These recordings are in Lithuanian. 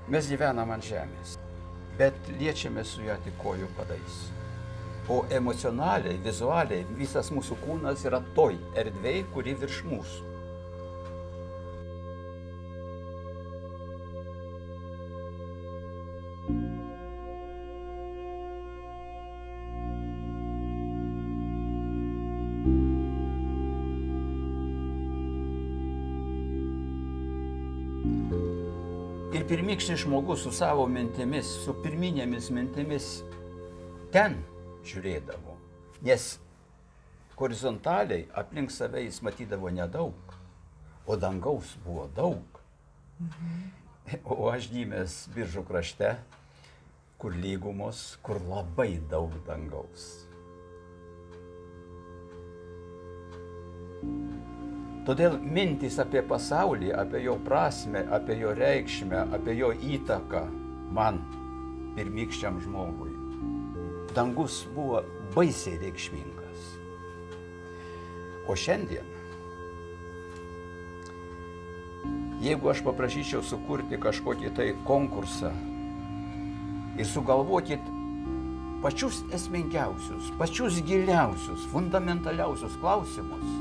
Mes gyvenam ant žemės, bet liečiame su ją tik kojų padais. O emocionaliai, vizualiai visas mūsų kūnas yra toj erdvėj, kuri virš mūsų. Ir pirmykštis žmogus su savo mintimis, su pirminėmis mintimis ten žiūrėdavo, nes horizontaliai aplink save jis matydavo nedaug, o dangaus buvo daug. O aš gimęs Biržų krašte, kur lygumos, kur labai daug dangaus. Todėl mintys apie pasaulį, apie jo prasmę, apie jo reikšmę, apie jo įtaką man, pirmykščiam žmogui. Dangus buvo baisiai reikšmingas. O šiandien, jeigu aš paprašyčiau sukurti kažkokį tai konkursą ir sugalvokit pačius esmingiausius, pačius giliausius, fundamentaliausius klausimus,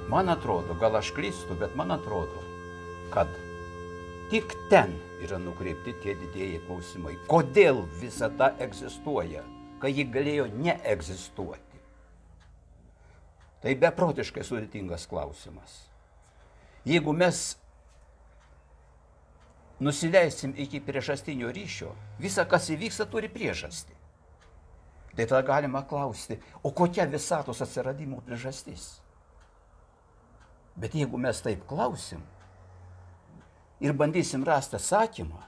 man atrodo, gal aš klystu, bet man atrodo, kad tik ten yra nukreipti tie didieji klausimai. Kodėl visata egzistuoja, kai ji galėjo neegzistuoti? Tai beprotiškai sudėtingas klausimas. Jeigu mes nusileisim iki priežastinio ryšio, visa, kas įvyksta, turi priežastį. Tai tada galima klausti, o kokia visatos atsiradimo priežastis? Bet jeigu mes taip klausim ir bandysim rasti atsakymą,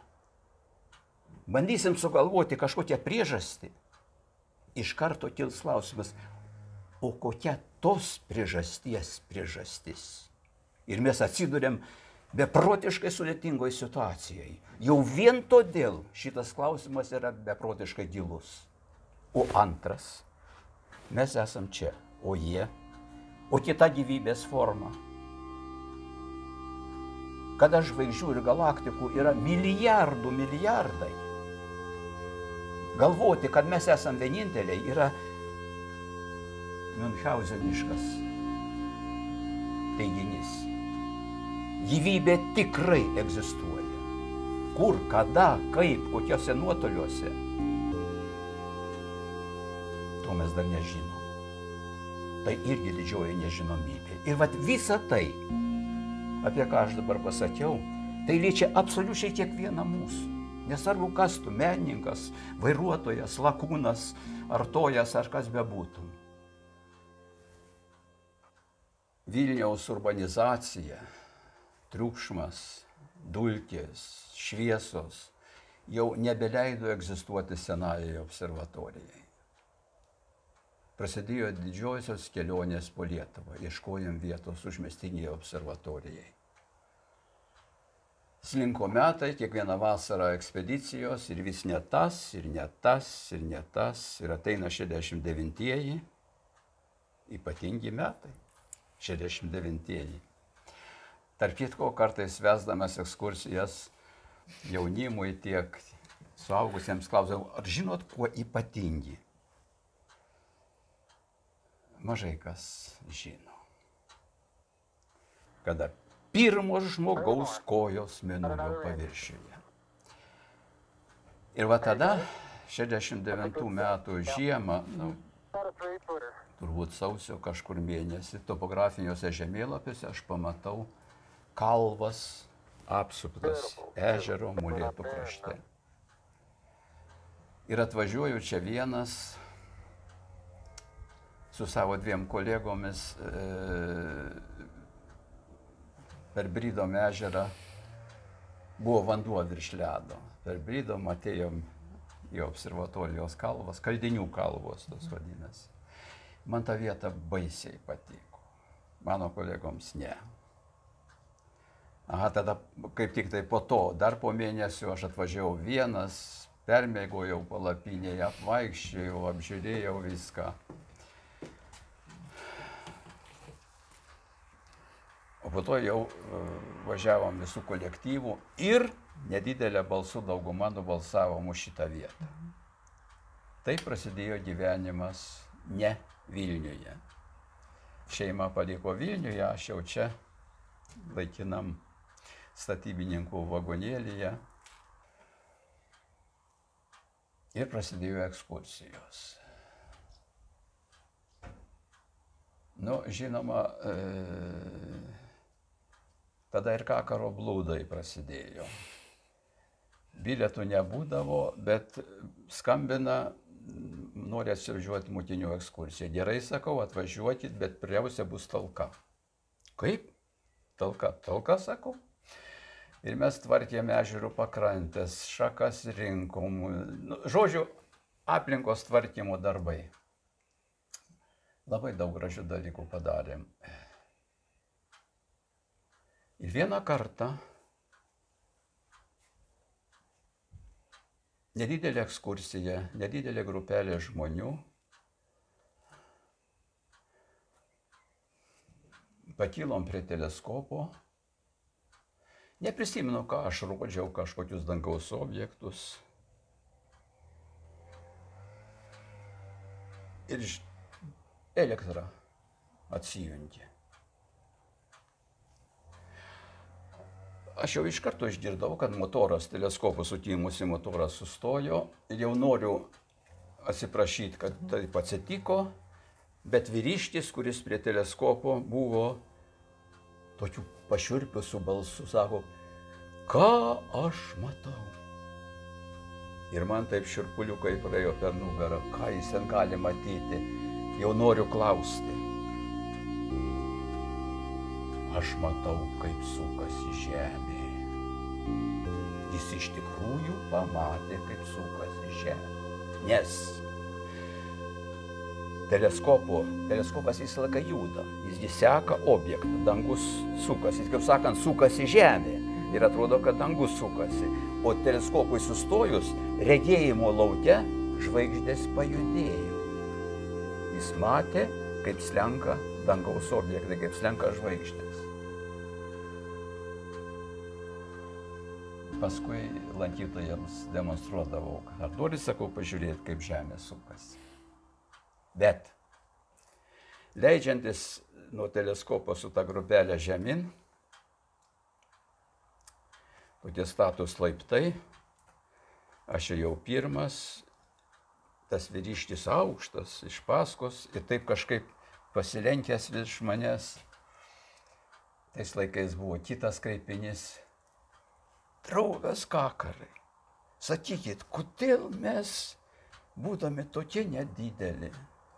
bandysim sugalvoti kažkokią priežastį, iš karto kils klausimas, o kokia tos priežasties priežastis? Ir mes atsiduriam beprotiškai sudėtingoj situacijai. Jau vien todėl šitas klausimas yra beprotiškai gilus. O antras, mes esam čia, o jie, o kita gyvybės forma. Kada žvaigždžių ir galaktikų yra milijardai. Galvoti, kad mes esam vieninteliai, yra miunchauzeniškas teiginys. Gyvybė tikrai egzistuoja. Kur, kada, kaip, kokiuose nuotoliuose, to mes dar nežinom. Tai irgi didžioji nežinomybė. Ir vat visa tai, apie ką aš dabar pasakiau, tai liečia absoliučiai kiekvieną mūsų. Nesvarbu, kas tu, menininkas, vairuotojas, lakūnas, artojas ar kas bebūtų. Vilniaus urbanizacija, triukšmas, dulkės, šviesos jau nebeleido egzistuoti senajai observatorijai. Prasidėjo didžiosios kelionės po Lietuvą, ieškojom vietos užmiestinėje observatorijai. Slinko metai, kiekvieną vasarą ekspedicijos ir vis ne tas, ir ne tas, ir ne tas. Ir ateina 69-ieji, ypatingi metai, 69-ieji. Tarp kitko, kartais vesdamas ekskursijas jaunimui tiek suaugusiems klausau, ar žinot, kuo ypatingi? Mažai kas žino. Kada pirmo žmogaus kojos mėnulio paviršiuje. Ir va tada, 69 metų žiemą, turbūt sausio kažkur mėnesį, topografiniuose žemėlapiuose aš pamatau kalvas apsuptas ežero Molėtų krašte. Ir atvažiuoju čia vienas su savo dviem kolegomis per Brydom ežerą. Buvo vanduo virš ledo. Per Brydom atėjom į observatorijos kalvas, Kaldinių kalvos tos vadinasi. Man ta vieta baisiai patiko. Mano kolegoms ne. Aha, tada kaip tik tai po to, dar po mėnesio aš atvažiavau vienas, permėgojau palapinėje, apvaikščiojau, apžiūrėjau viską. O po to jau važiavom visų kolektyvų ir nedidelė balsų dauguma nubalsavo už šitą vietą. Taip prasidėjo gyvenimas ne Vilniuje. Šeima paliko Vilniuje, aš jau čia laikinam statybininkų vagonėlyje. Ir prasidėjo ekskursijos. Nu, žinoma, tada ir Kakaro blūdai prasidėjo. Bilietų nebūdavo, bet skambina, nori atsivažiuoti mokinių ekskursiją. Gerai, sakau, atvažiuokit, bet pirmiausia bus talka. Kaip? Talka. Talka, sakau. Ir mes tvarkėme ežerų pakrantės, šakas rinkom. Nu, žodžiu, aplinkos tvarkymo darbai. Labai daug gražių dalykų padarėm. Ir vieną kartą nedidelė ekskursija, nedidelė grupelė žmonių pakilom prie teleskopo. Neprisimenu, ką aš rodžiau, kažkokius dangaus objektus. Ir elektra atsijungė. Aš jau iš karto išgirdau, kad motoras, teleskopų sutimusi motoras sustojo ir jau noriu atsiprašyti, kad taip atsitiko, bet vyriškis, kuris prie teleskopo buvo tokiu pašiurpiusiu balsu, sako, ką aš matau. Ir man taip šiurpuliukai praėjo per nugarą, ką jis ten gali matyti, jau noriu klausti. Aš matau, kaip sukasi žemė. Jis iš tikrųjų pamatė, kaip sukasi žemė. Nes teleskopas visą laiką juda, jis seka objektą, dangus sukasi, kaip sakant, sukasi žemė ir atrodo, kad dangus sukasi. O teleskopui sustojus, regėjimo lauke žvaigždės pajudėjo. Jis matė, kaip slenka dangaus objektai, kaip slenka žvaigždės. Paskui lankytojams demonstruodavau, ar nori, sakau, pažiūrėti, kaip žemė sukasi. Bet leidžiantis nuo teleskopo su ta grupelė žemyn, tokie status laiptai, aš ėjau pirmas, tas vyriškis aukštas iš paskos ir taip kažkaip pasilenkęs virš manęs. Tais laikais buvo kitas kreipinys. Draugas Kakarai, sakykit, kodėl mes, būdami tokie nedideli,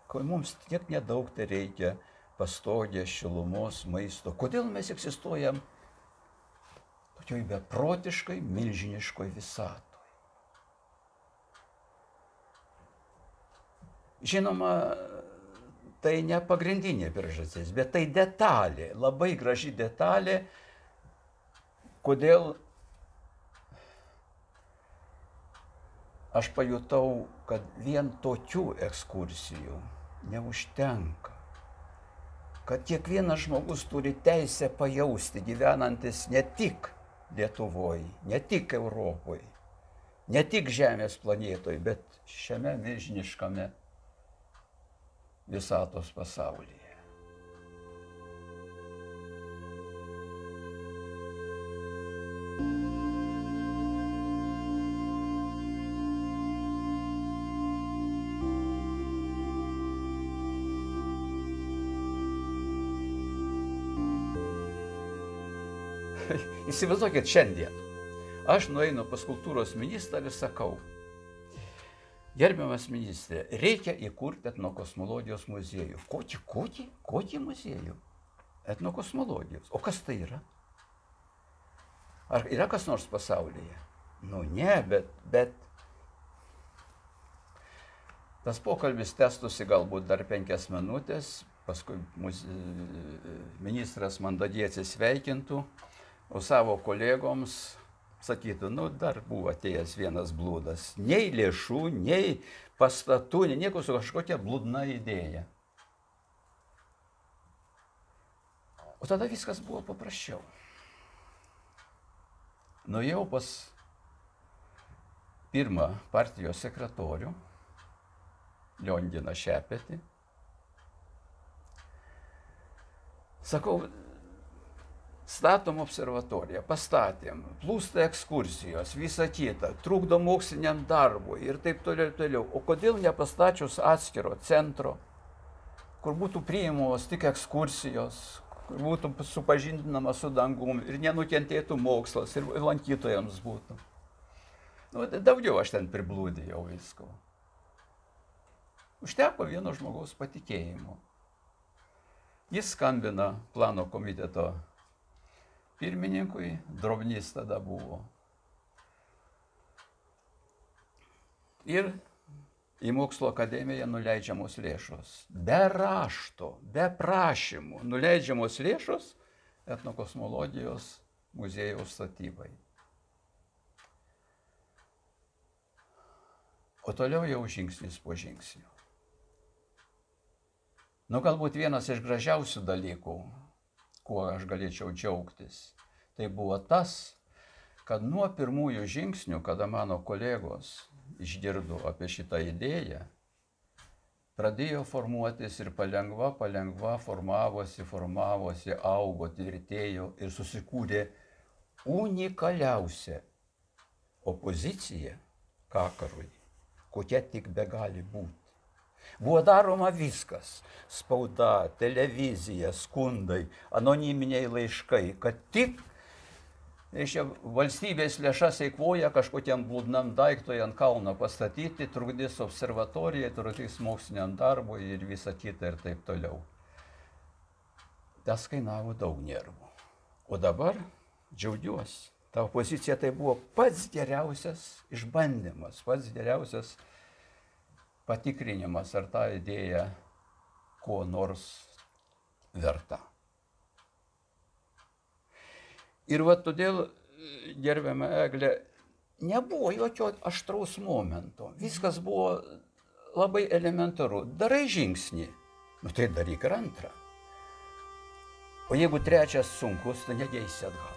kai mums tiek nedaug tai reikia pastogės, šilumos, maisto, kodėl mes egzistuojam tokioj beprotiškai, milžiniškoj visatoj? Žinoma, tai ne pagrindinė priežastis, bet tai detalė, labai graži detalė, kodėl aš pajutau, kad vien tokių ekskursijų neužtenka. Kad kiekvienas žmogus turi teisę pajausti, gyvenantis ne tik Lietuvoje, ne tik Europoje, ne tik Žemės planetoje, bet šiame milžiniškame visatos pasaulyje. Įsivaizduokit šiandien. Aš nueinu pas kultūros ministrą ir sakau, gerbiamas ministrė, reikia įkurti etnokosmologijos muziejų. Kokį muziejų? Etnokosmologijos. O kas tai yra? Ar yra kas nors pasaulyje? Nu ne, bet tas pokalbis tęstųsi galbūt dar 5 minutės, paskui ministras mandagiai atsisveikintų, o savo kolegoms sakytų, nu dar buvo atėjęs vienas blūdas. Nei lėšų, nei pastatų, nei nieko, su kažkokia blūdna idėja. O tada viskas buvo paprasčiau. nuėjau pas pirmą partijos sekretorių, Lionginą Šepetį. Sakau, statom observatoriją, pastatėm, plūsta ekskursijos, visa kita, trukdo moksliniam darbui ir taip toliau ir toliau. O kodėl nepastačius atskiro centro, kur būtų priimamos tik ekskursijos, kur būtų supažindinama su dangum ir nenukentėtų mokslas ir lankytojams būtų. Nu, daugiau aš ten priblūdėjau visko. Užteko vieno žmogaus patikėjimo. Jis skambina plano komiteto pirmininkui, Drobnys tada buvo. Ir į mokslo akademiją nuleidžiamos lėšos. Be rašto, be prašymų nuleidžiamos lėšos etnokosmologijos muziejaus statybai. O toliau jau žingsnis po žingsnio. Nu, galbūt vienas iš gražiausių dalykų, kuo aš galėčiau džiaugtis, tai buvo tas, kad nuo pirmųjų žingsnių, kada mano kolegos išgirdo apie šitą idėją, pradėjo formuotis ir palengva formavosi, augo, tvirtėjo ir susikūrė unikaliausia opozicija kakarui, kokia tik begali būti. Buvo daroma viskas – spauda, televizija, skundai, anoniminiai laiškai, kad tik valstybės lėšas eikvoja kažkokiam blūdnam daiktui ant kalno pastatyti, trukdys observatorijai, trukdys moksliniam darbui ir visa kita ir taip toliau. Tas kainavo daug nervų. O dabar džiaugiuosi. Ta opozicija tai buvo pats geriausias išbandymas, pats geriausias patikrinimas, ar ta idėja ko nors verta. Ir va todėl, gerbiama Eglė, nebuvo jokio aštraus momento. Viskas buvo labai elementaru. Darai žingsnį, nu tai daryk ir antrą. O jeigu trečias sunkus, tai negeisi atgal.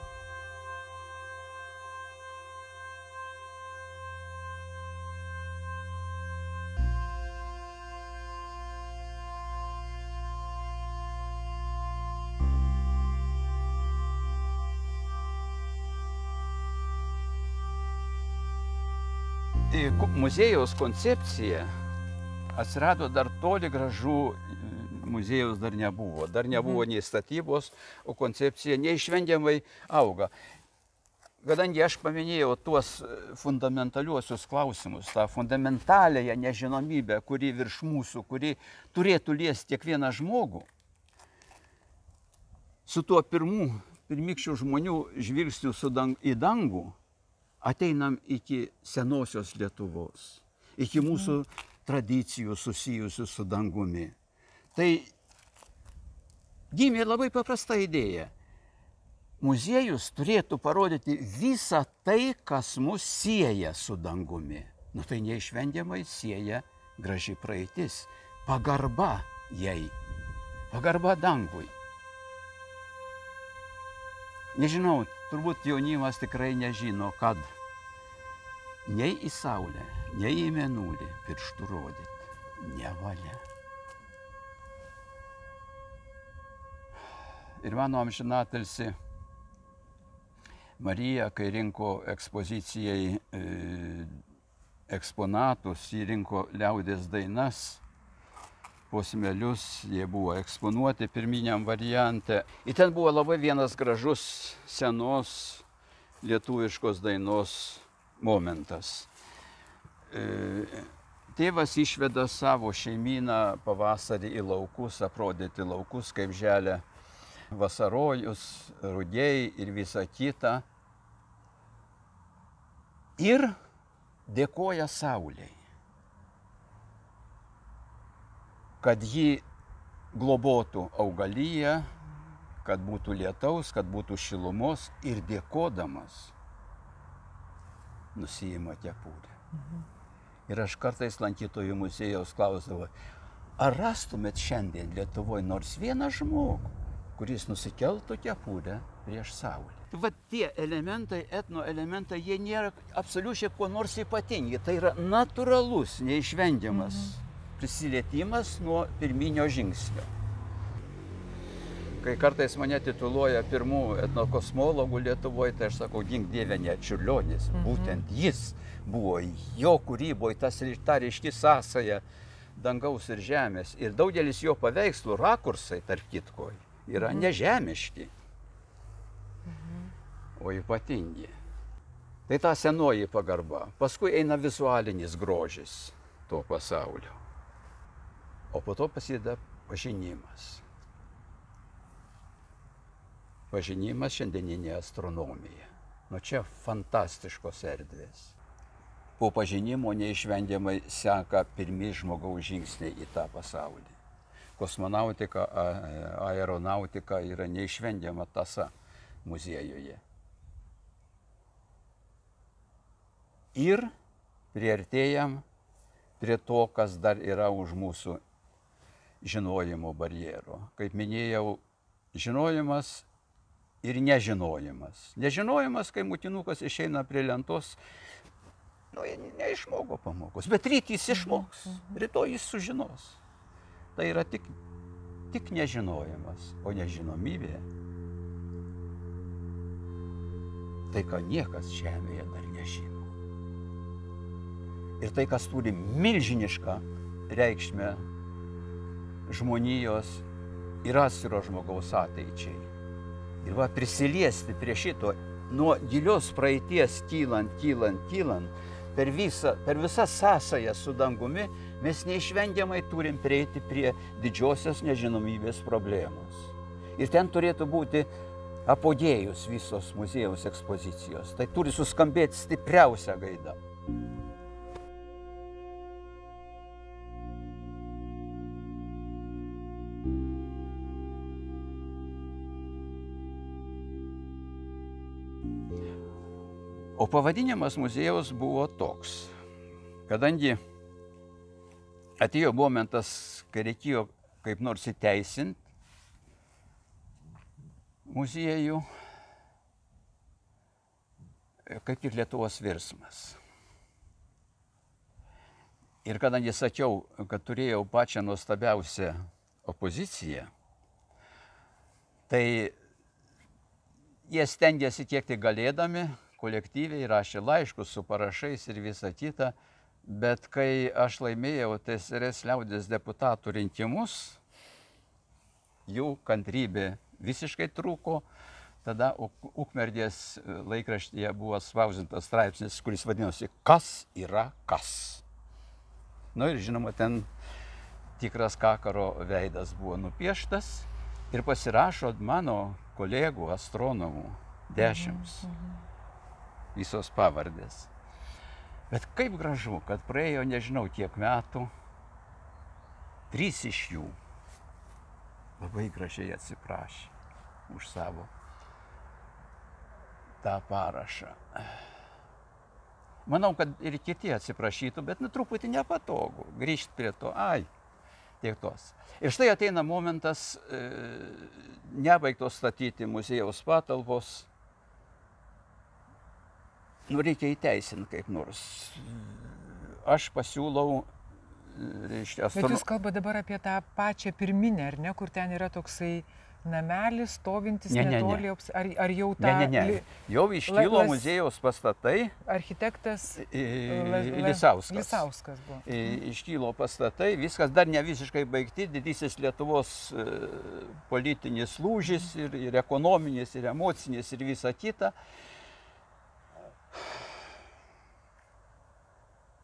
Muziejaus koncepcija atsirado dar toli gražu, muziejaus dar nebuvo. Dar nebuvo nei statybos, o koncepcija neišvengiamai auga. Kadangi aš paminėjau tuos fundamentaliuosius klausimus, tą fundamentaliąją nežinomybę, kuri virš mūsų, kuri turėtų liesti kiekvieną žmogų, su tuo pirmykščių žmonių žvilgsniu į dangų, ateinam iki senosios Lietuvos, iki mūsų tradicijų susijusių su dangumi. Tai gimė labai paprasta idėja. Muziejus turėtų parodyti visą tai, kas mus sieja su dangumi. Nu tai neišvengiamai sieja graži praeitis, pagarba jai, pagarba dangui. Nežinau, turbūt jaunimas tikrai nežino, kad nei į Saulę, nei į Mėnulį pirštų rodyti nevalia. Ir mano amžinatilsį Marija, kai rinko ekspozicijai eksponatus, jį rinko liaudies dainas, posmelius, jie buvo eksponuoti pirminiam variante. Ir ten buvo labai vienas gražus senos lietuviškos dainos momentas. Tėvas išveda savo šeimyną pavasarį į laukus, aprodyti laukus, kaip želia vasarojus, rugiai ir visa kita. Ir dėkoja Saulei, kad ji globotų augaliją, kad būtų lietaus, kad būtų šilumos, ir dėkodamas nusiima kepurę. Ir aš kartais lankytojų muziejaus klausdavau, ar rastumėt šiandien Lietuvoje nors vieną žmogų, kuris nusikeltų kepurę prieš Saulę? Va tie elementai, etno elementai, jie nėra absoliučiai kuo nors ypatingi. Tai yra natūralus, neišvengiamas prisilietimas nuo pirminio žingsnio. Kai kartais mane tituluoja pirmų etnokosmologų Lietuvoje, tai aš sakau, gink Dieve, ne Čiurlionis. Būtent jis buvo, jo kūryboje ta ryški sąsaja dangaus ir žemės. Ir daugelis jo paveikslų rakursai, tarp kitko, yra nežemiški, o ypatingi. Tai ta senoji pagarba. Paskui eina vizualinis grožis to pasaulio. O po to prasideda pažinimas. Pažinimas šiandieninė astronomija. Nu čia fantastiškos erdvės. Po pažinimo neišvengiamai seka pirmi žmogaus žingsniai į tą pasaulį. Kosmonautika, aeronautika yra neišvengiama tąsa muziejuje. Ir priartėjam prie to, kas dar yra už mūsų žinojimo barjero. Kaip minėjau, žinojimas ir nežinojimas. Nežinojimas, kai mutinukas išeina prie lentos, neišmoko pamokos, bet ryt jis išmoks, rytoj jis sužinos. Tai yra tik nežinojimas, o nežinomybė. Tai, ką niekas žemėje dar nežino. Ir tai, kas turi milžinišką reikšmę žmonijos ir atskiro žmogaus ateičiai. Ir va prisiliesti prie šito, nuo gilios praeities kylant, per visas sąsajas su dangumi, mes neišvengiamai turim prieiti prie didžiosios nežinomybės problemos. Ir ten turėtų būti apogėjus visos muziejaus ekspozicijos. Tai turi suskambėti stipriausia gaida. O pavadinimas muziejaus buvo toks, kadangi atėjo momentas, kai reikėjo kaip nors įteisinti muziejų, kaip tik Lietuvos virsmas. Ir kadangi sakiau, kad turėjau pačią nuostabiausią opoziciją, tai jie stengiasi kiek tik galėdami, kolektyviai rašė laiškus su parašais ir visa kita, bet kai aš laimėjau TSRS liaudės deputatų rinkimus, jų kantrybė visiškai trūko. Tada Ukmergės laikraštyje buvo spausdintas straipsnis, kuris vadinosi "Kas yra kas?". Nu ir žinoma, ten tikras Kakaro veidas buvo nupieštas ir pasirašo mano kolegų astronomų 10. Visos pavardės. Bet kaip gražu, kad praėjo nežinau kiek metų, 3 iš jų labai gražiai atsiprašė už savo tą parašą. Manau, kad ir kiti atsiprašytų, bet truputį nepatogu grįžti prie to. Tiek tos. Ir štai ateina momentas, nebaigtos statyti muziejaus patalpos. Reikia įteisinti kaip nors. Aš pasiūlau, reiškia, Bet jūs kalbate dabar apie tą pačią pirminę, ar ne, kur ten yra toksai namelis, stovintis netoli, ar jau tą... Ne. Jau iškilo muziejaus pastatai. Architektas Lisauskas buvo. Iškilo pastatai, viskas dar ne visiškai baigti, didysis Lietuvos politinis lūžis ir ekonominis, ir emocinis, ir visa kita.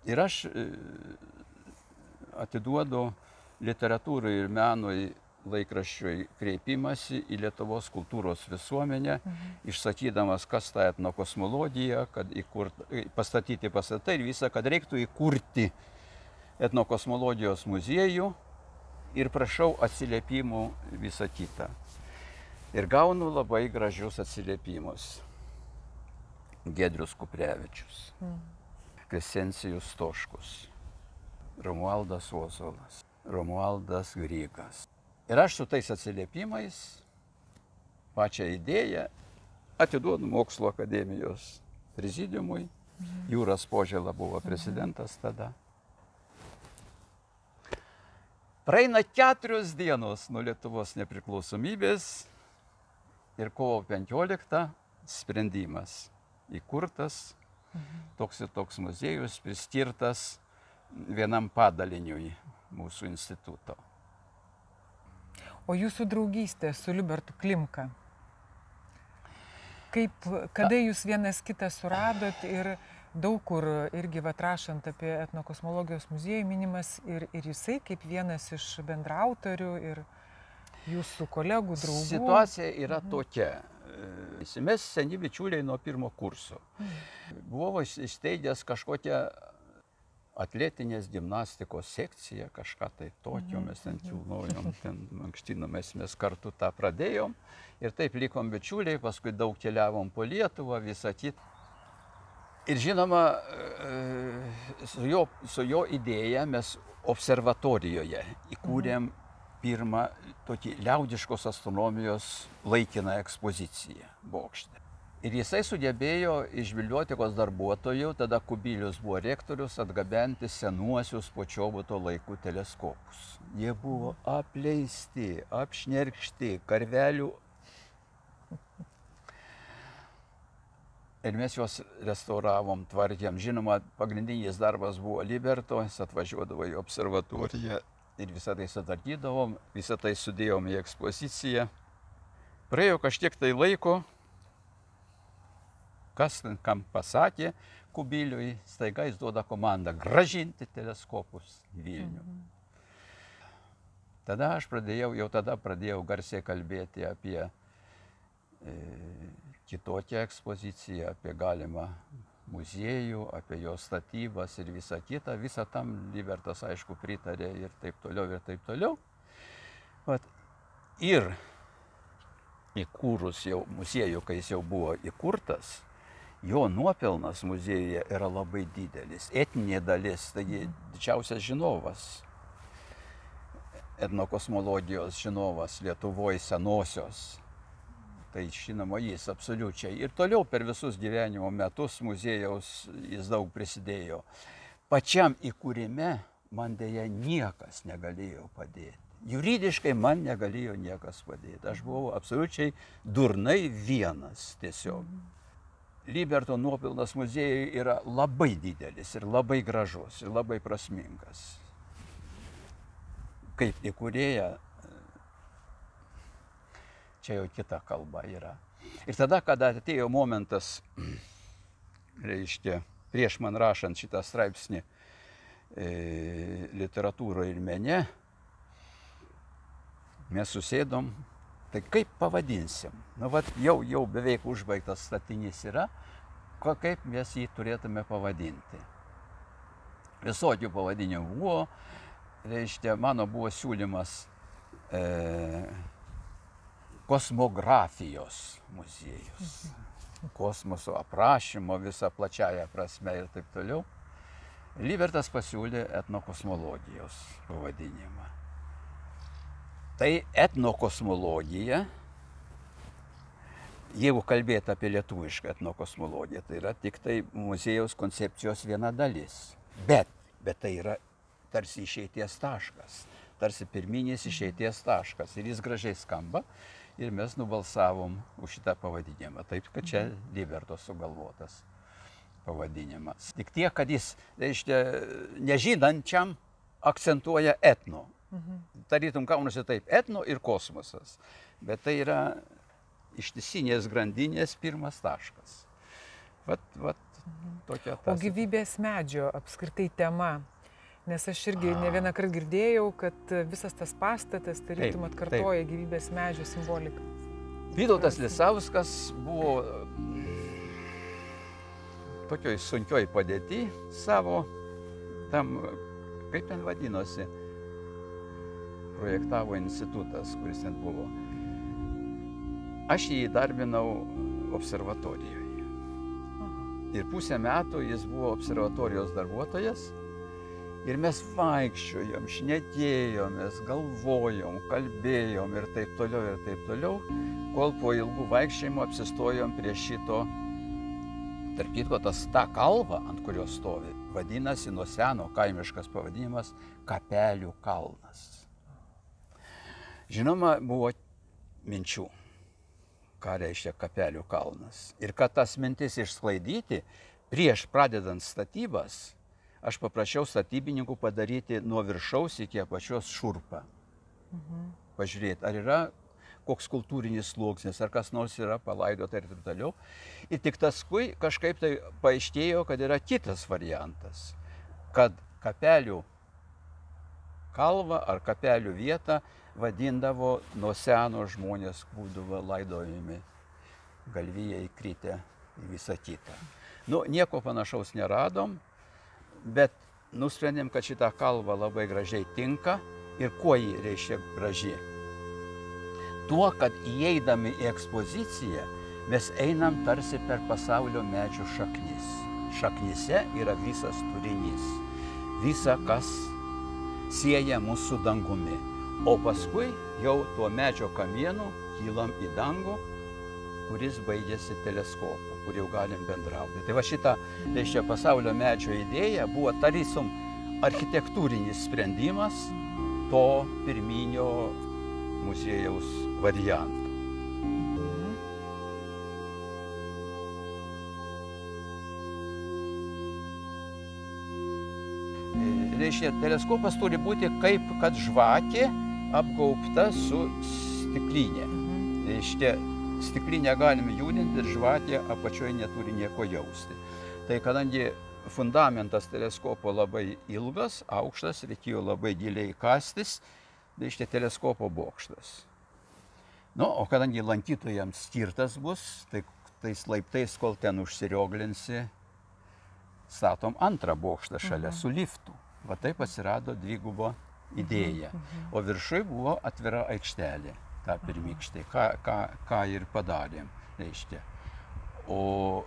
Ir aš atiduodu literatūrai ir menui laikraščiui kreipimąsi į Lietuvos kultūros visuomenę, išsakydamas, kas ta etnokosmologija, kad pastatyti pastatai ir visą, kad reiktų įkurti etnokosmologijos muziejų ir prašau atsiliepimų visą kitą. Ir gaunu labai gražius atsiliepimus. Giedrius Kuprevičius, Kresencijus Stoškus, Romualdas Ozolas, Romualdas Grygas. Ir aš su tais atsiliepimais pačią idėją atiduodu Mokslo akademijos prezidiumui. Jūras Požėla buvo prezidentas tada. Praeina 4 dienos nuo Lietuvos nepriklausomybės ir kovo 15 sprendimas įkurtas, toks ir toks muziejus priskirtas vienam padaliniui mūsų instituto. O jūsų draugystė su Libertu Klimka? Kada jūs vienas kitą suradot ir daug kur irgi rašant apie etnokosmologijos muziejų minimas ir jisai kaip vienas iš bendraautorių ir jūsų kolegų, draugų? Situacija yra tokia. Mes seni bičiuliai nuo 1 kurso. Buvau įsteigęs kažkokią atletinės gimnastikos sekciją, kažką tai tokio, mes ten kilnojom, ten mankštinomės, mes kartu tą pradėjom ir taip likom bičiuliai, paskui daug keliavom po Lietuvą, visą kitą. Ir žinoma, su jo idėja mes observatorijoje įkūrėm pirmą tokį liaudiškos astronomijos laikiną ekspoziciją bokšte. Ir jisai sugebėjo iš bibliotekos darbuotojų, tada Kubilius buvo rektorius, atgabenti senuosius Počobuto laikų teleskopus. Jie buvo apleisti, apšnerkšti, karvelių. Ir mes juos restauravom, tvarkėm. Žinoma, pagrindinis darbas buvo Liberto, jis atvažiuodavo į observatoriją ir visą tai sutvarkydavom, visą tai sudėjom į ekspoziciją. Praėjo kažkiek tai laiko, kas kam pasakė Kubiliui, staiga jis duoda komandą grąžinti teleskopus į Vilnių. Tada aš pradėjau garsiai kalbėti apie kitokią ekspoziciją, apie galimą muziejų, apie jo statybas ir visą kitą. Visą tam Libertas, aišku, pritarė ir taip toliau, ir taip toliau. Ir įkūrus jau muziejų, kai jis jau buvo įkurtas, jo nuopelnas muziejuje yra labai didelis. Etninė dalis, taigi didžiausias žinovas, etnokosmologijos žinovas Lietuvoje senosios. Tai žinoma, jis absoliučiai. Ir toliau per visus gyvenimo metus muziejaus jis daug prisidėjo. Pačiam įkūrime man dėja niekas negalėjo padėti. Juridiškai man negalėjo niekas padėti. Aš buvau absoliučiai durnai vienas tiesiog. Liberto nuopelnas muziejui yra labai didelis ir labai gražus ir labai prasmingas. Kaip įkūrėja, čia jau kita kalba yra. Ir tada, kada atėjo momentas, reiškia, prieš man rašant šitą straipsnį literatūroje ir mene, mes susėdom, tai kaip pavadinsim? Nu, jau beveik užbaigtas statinys yra, kaip mes jį turėtume pavadinti. Visokių pavadinimų buvo, reiškia, mano buvo siūlymas kosmografijos muziejus, kosmoso aprašymo visą plačiąją prasme ir taip toliau. Libertas pasiūlė etnokosmologijos pavadinimą. Tai etnokosmologija, jeigu kalbėti apie lietuvišką etnokosmologiją, tai yra tik tai muziejaus koncepcijos viena dalis. Bet tai yra tarsi išeities taškas, tarsi pirminis išeities taškas. Ir jis gražiai skamba ir mes nubalsavom už šitą pavadinimą. Taip, kad čia Liberto sugalvotas pavadinimas. Tik tiek, kad jis, reiškia, nežinančiam akcentuoja etno. Tarytum kaunasi taip, etno ir kosmosas. Bet tai yra ištisinės grandinės pirmas taškas. Tokia tas. O gyvybės medžio apskritai tema. Nes aš irgi ne vieną kartą girdėjau, kad visas tas pastatas tarytum atkartoja gyvybės medžio simboliką. Vytautas Lisauskas buvo tokioj sunkioj padėty savo, tam, kaip ten vadinosi, projektavo institutas, kuris ten buvo. Aš jį įdarbinau observatorijoje. Ir pusę metų jis buvo observatorijos darbuotojas Ir mes vaikščiojom, šnekėjomės, galvojom, kalbėjom ir taip toliau, kol po ilgų vaikščiojimų apsistojom prie šito. Tarp kitko, ta kalva, ant kurios stovi, vadinasi nuo seno kaimiškas pavadinimas Kapelių kalnas. Žinoma, buvo minčių, ką reiškia Kapelių kalnas. Ir kad tas mintis išsklaidyti, prieš pradedant statybas, aš paprašiau statybininkų padaryti nuo viršaus iki apačios šurpą. Pažiūrėti, ar yra koks kultūrinis sluoksnis, ar kas nors yra palaidota ir taip toliau. Ir tik paskui kažkaip tai paaiškėjo, kad yra kitas variantas, kad Kapelių kalvą ar Kapelių vietą vadindavo nuo seno žmonės būdavo laidojami, galvijai kritę ir visą kitą. Nu, nieko panašaus neradom, bet nusprendėm, kad šitą kalvą labai gražiai tinka. Ir kuo ji reiškia graži? Tuo, kad įeidami į ekspoziciją, mes einam tarsi per pasaulio medžių šaknis. Šaknyse yra visas turinys, visa, kas sieja mus su dangumi. O paskui jau tuo medžio kamienu kylam į dangų, kuris baigėsi teleskopu, kur jau galim bendrauti. Tai va šita, reiškia, pasaulio medžio idėja buvo tarytum architektūrinis sprendimas to pirminio muziejaus varianto. Reiškia, teleskopas turi būti kaip kad žvakė apgaubta su stiklinė. Reiškia, stiklinę galime judinti ir žvakė apačioje neturi nieko jausti. Tai kadangi fundamentas teleskopo labai ilgas, aukštas, reikėjo labai giliai kastis, reiškia teleskopo bokštas. Nu, o kadangi lankytojams skirtas bus, tai tais laiptais, kol ten užsirioglinsi, statom antrą bokštą šalia su liftu. Va taip atsirado dvigubo idėja. O viršui buvo atvira aikštelė, ta pirmykštė, ką ir padarėm, reiškia. O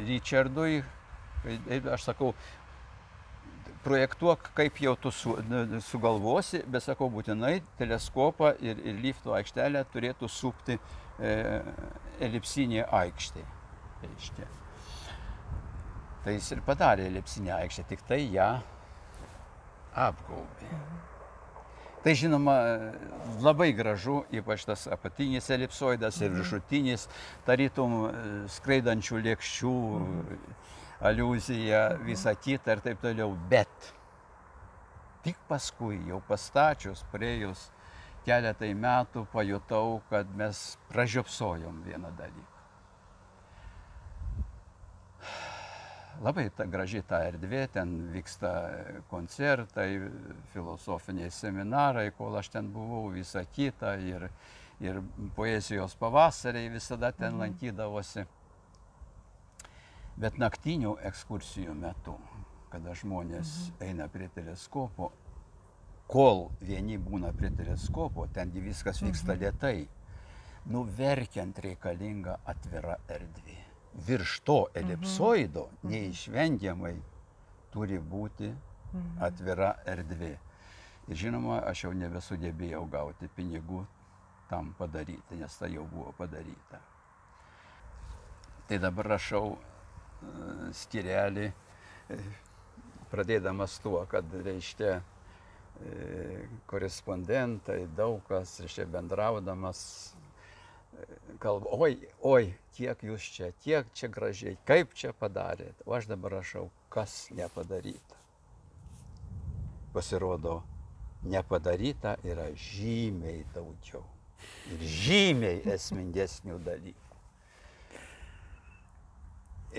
Richardui, aš sakau, projektuok, kaip jau tu sugalvosi, bet sakau, būtinai teleskopą ir lifto aikštelę turėtų supti elipsinė aikštė, reiškia. Tai jis ir padarė elipsinę aikštę, tik tai ją apgaubė. Tai žinoma, labai gražu, ypač tas apatinis elipsoidas ir viršutinis, tarytum skraidančių lėkščių, aliuzija, visa kita ir taip toliau. Bet tik paskui, jau pastačius, praėjus keletai metų, pajutau, kad mes pražiopsojom vieną dalyką. Labai graži ta erdvė, ten vyksta koncertai, filosofiniai seminarai, kol aš ten buvau, visa kita, ir poezijos pavasariai visada ten lankydavosi. Bet naktinių ekskursijų metu, kada žmonės eina prie teleskopo, kol vieni būna prie teleskopo, tengi viskas vyksta lėtai, verkiant reikalinga atvira erdvė. Virš to elipsoido neišvengiamai turi būti atvira erdvė. Ir žinoma, aš jau nebesugebėjau gauti pinigų tam padaryti, nes tai jau buvo padaryta. Tai dabar rašau skyrelį, pradėdamas tuo, kad, reiškia, korespondentai, daug kas, reiškia, bendraudamas, kalba, oi, kiek jūs čia, tiek čia gražiai, kaip čia padarėt. O aš dabar rašau, kas nepadaryta. Pasirodo, nepadaryta yra žymiai daugiau ir žymiai esmingesnių dalykų.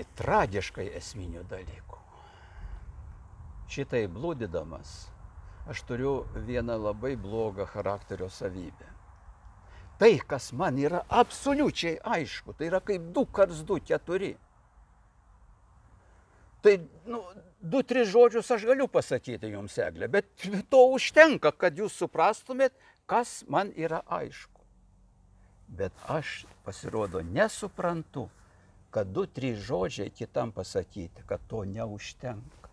Ir tragiškai esminių dalykų. Šitai blūdydamas, aš turiu vieną labai blogą charakterio savybę. Tai, kas man yra absoliučiai aišku, tai yra kaip 2 × 2 = 4. Tai, 2-3 žodžius aš galiu pasakyti jums, Egle, bet to užtenka, kad jūs suprastumėt, kas man yra aišku. Bet aš, pasirodo, nesuprantu, kad 2-3 žodžiai kitam pasakyti, kad to neužtenka.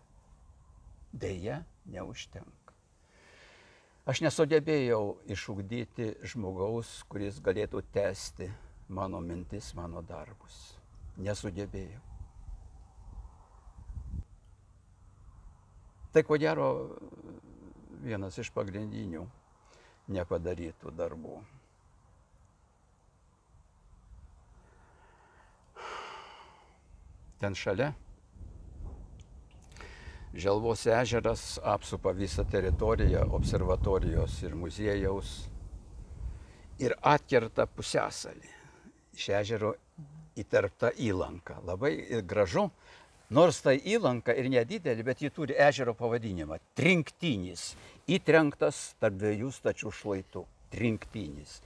Deja, neužtenka. Aš nesugebėjau išugdyti žmogaus, kuris galėtų tęsti mano mintis, mano darbus. Nesugebėjau. Tai ko gero vienas iš pagrindinių nepadarytų darbų. Ten šalia Želvos ežeras apsupa visą teritoriją observatorijos ir muziejaus ir atkerta pusiasalį. Iš ežero įterpta įlanka. Labai gražu, nors tai įlanka ir nedidelė, bet ji turi ežero pavadinimą – Trinktinis. Įtrenktas tarp dviejų stačių šlaitų. Trinktinis.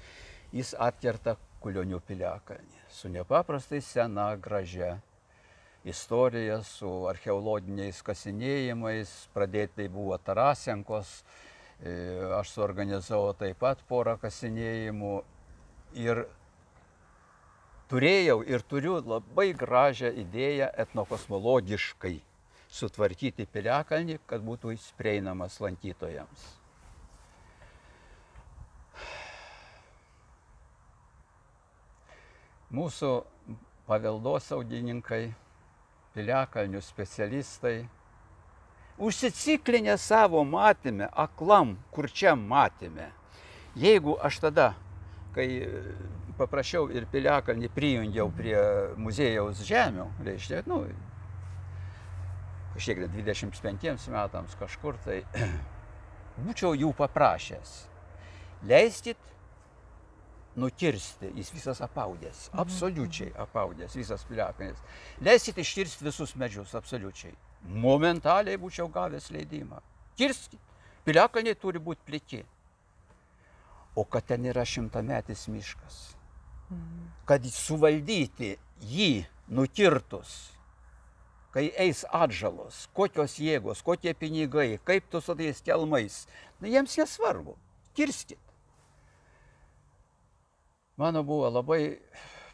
Jis atkerta Kulionių piliakalnį su nepaprastai sena, gražia istorija, su archeologiniais kasinėjimais. Pradėtai buvo Tarasenkos. Aš suorganizavau taip pat porą kasinėjimų ir turėjau ir turiu labai gražią idėją etnokosmologiškai sutvarkyti piliakalnį, kad būtų jis prieinamas lankytojams. Mūsų paveldosaugininkai, piliakalnių specialistai, užsiciklinę savo matyme, aklam, kurčiam matyme. Jeigu aš tada, kai paprašiau ir piliakalnį prijungiau prie muziejaus žemių, reiškia, kažkiek 25 metams kažkur, tai būčiau jų paprašęs. Leiskit nukirsti, jis visas apaudęs, absoliučiai apaudęs, visas piliakalnis. Leiskit iškirsti visus medžius, absoliučiai. Momentaliai būčiau gavęs leidimą. Kirskit. Piliakalniai turi būti pliki. O kad ten yra 100-metis miškas, kad suvaldyti jį nukirtus, kai eis atžalos, kokios jėgos, kokie pinigai, kaip tu su tais kelmais, jiems nesvarbu. Kirskit. Mano buvo labai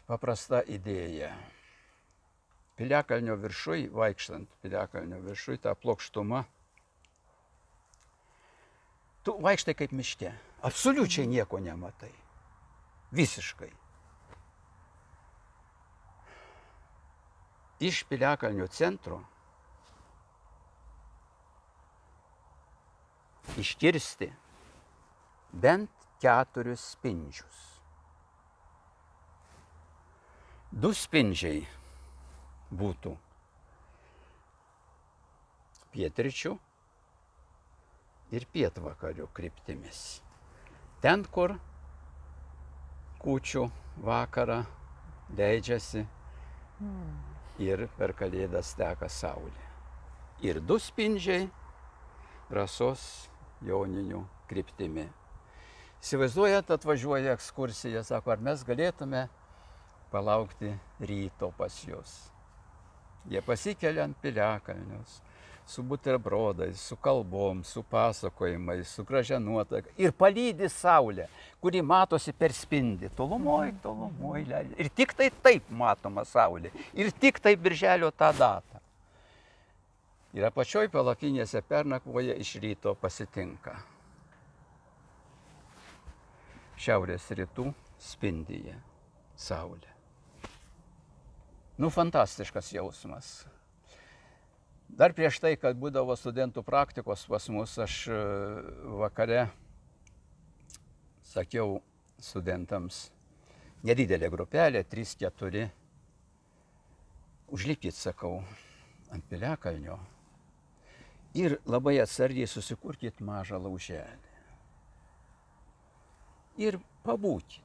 paprasta idėja. Piliakalnio viršui, vaikštant piliakalnio viršui, tą plokštumą, tu vaikštai kaip miške. Absoliučiai nieko nematai. Visiškai. Iš piliakalnio centro iškirsti bent 4 spindžius. 2 spindžiai būtų pietryčių ir pietvakarių kryptimis. Ten, kur kūčių vakarą leidžiasi ir per Kalėdas teka saulė. Ir 2 spindžiai Rasos Joninių kryptimi. Įsivaizduojat, atvažiuoja ekskursija, sako, ar mes galėtume palaukti ryto pas jūs. Jie pasikelia ant piliakalnius, su buterbrodais, su kalbom, su pasakojimais, su gražia nuotaika ir palydi saulę, kuri matosi per spindį. Tolumoj, ir tik tai taip matoma saulė. Ir tik tai birželio tą datą. Ir apačioj palapinėse pernakvoja, iš ryto pasitinka. Šiaurės rytų spindyje saulė. Fantastiškas jausmas. Dar prieš tai, kad būdavo studentų praktikos pas mus, aš vakare sakiau studentams, nedidelė grupelė, 3-4, užlipkit, sakau, ant piliakalnio ir labai atsargiai susikurkit mažą lauželį. Ir pabūkit.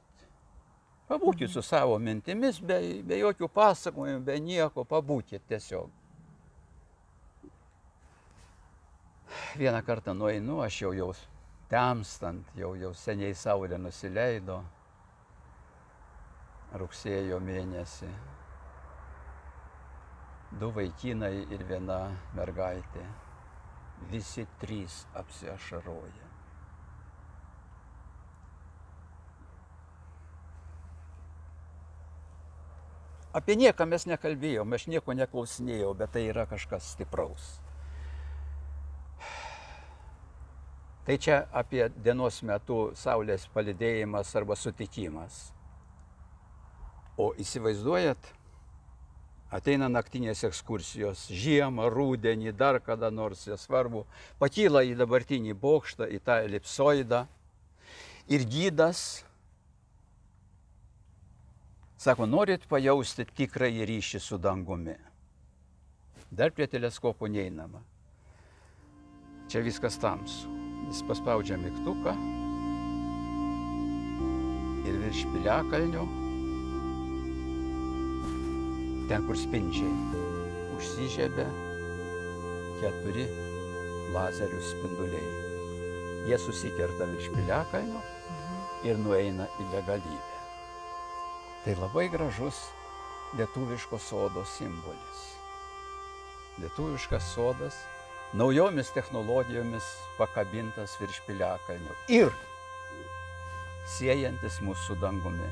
Pabūkit su savo mintimis, be jokių pasakojimų, be nieko, pabūkit tiesiog. Vieną kartą nueinu, aš jau temstant, jau seniai saulė nusileido, rugsėjo mėnesį. 2 vaikinai ir 1 mergaitė, visi 3 apsiašaroja. Apie nieką mes nekalbėjom, aš nieko neklausinėjau, bet tai yra kažkas stipraus. Tai čia apie dienos metu saulės palydėjimas arba sutikimas. O įsivaizduojat, ateina naktinės ekskursijos, žiemą, rudenį, dar kada nors, nesvarbu, pakyla į dabartinį bokštą, į tą elipsoidą ir gidas sako, norit pajausti tikrąjį ryšį su dangumi. Dar prie teleskopo neeinama. Čia viskas tamsu. Jis paspaudžia mygtuką ir virš piliakalnio, ten kur spindžiai, užsižiebia 4 lazerių spinduliai. Jie susikerta virš piliakalnio ir nueina į begalybę. Tai labai gražus lietuviško sodo simbolis. Lietuviškas sodas naujomis technologijomis pakabintas virš piliakalnio ir siejantis mūsų dangumi.